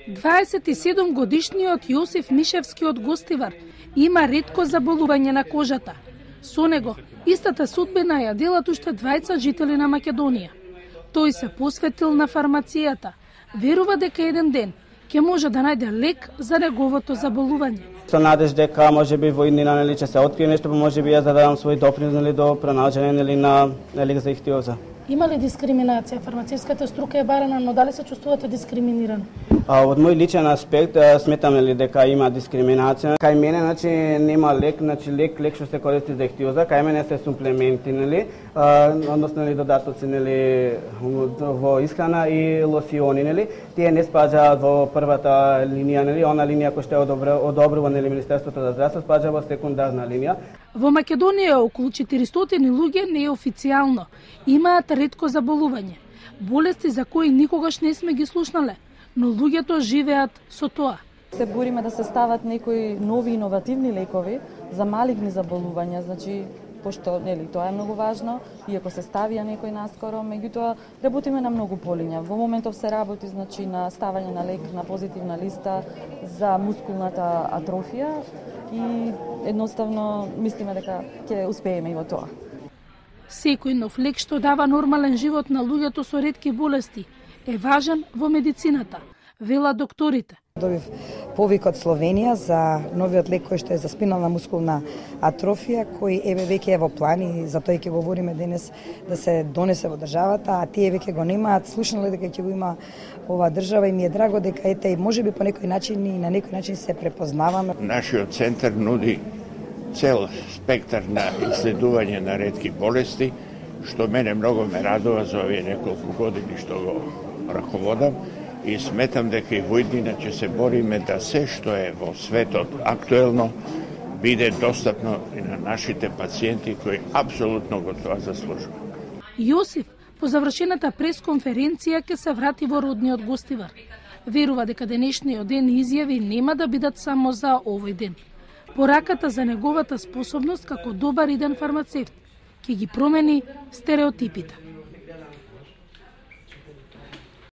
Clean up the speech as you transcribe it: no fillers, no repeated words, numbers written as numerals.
27 годишниот Јосиф Мишевски од Гостивар има ретко заболување на кожата. Со него истата судбина ја делат уште 20 жители на Македонија. Тој се посветил на фармацијата. Верува дека еден ден ќе може да најде лек за неговото заболување. Со надеж дека можеби во иднина ќе се открие нешто, можеби ја зададам свој допринос до пронаоѓање на лек за ихтиоза. Има ли дискриминација? Фармацевската струка е барана, но дали се чувствувате дискриминирани? Од мој личен аспект сметам дека има дискриминација. Кај мене нема лек, лек што се користи за ихтиоза, кај мене се суплементи, односно додатоци во исхрана и лосиони, Тие не спаѓаат во првата линија, она линија која што одобрува Министерството за здравство, спаѓа во секундарна линија. Во Македонија околу 400 луѓе неофицијално имаат ретко заболување, болести за кои никогаш не сме ги слушнале, но луѓето живеат со тоа. Се бориме да се стават некои нови иновативни лекови за малигни заболувања, пошто тоа е многу важно, иако се ставија некој наскоро, меѓутоа работиме на многу полиња. Во моментов се работи на ставање на лек на позитивна листа за мускулната атрофија и едноставно мислиме дека ќе успееме и во тоа. Секој нов лек што дава нормален живот на луѓето со ретки болести е важен во медицината, велат докторите. Добив повик од Словенија за новиот лек кој што е за спинална мускулна атрофија, кој веќе е во план и за тој ќе говориме денес да се донесе во државата, а тие веќе го немаат, слушнале дека ќе го има оваа држава и ми е драго дека и можеби по некој начин и на некој начин се препознаваме. Нашиот центар нуди цел спектар на исследување на ретки болести, што мене многу ме радува за овие неколку години што го раководам. И сметам дека и во иднина ќе се бориме да се што е во светот актуелно биде достапно и на нашите пациенти кои апсолутно го тоа заслужуваат. Јосиф по завршената пресконференција ќе се врати во родниот Гостивар. Верува дека денешниот ден изјави нема да бидат само за овој ден. Пораката за неговата способност како добар иден фармацевт ќе ги промени стереотипите.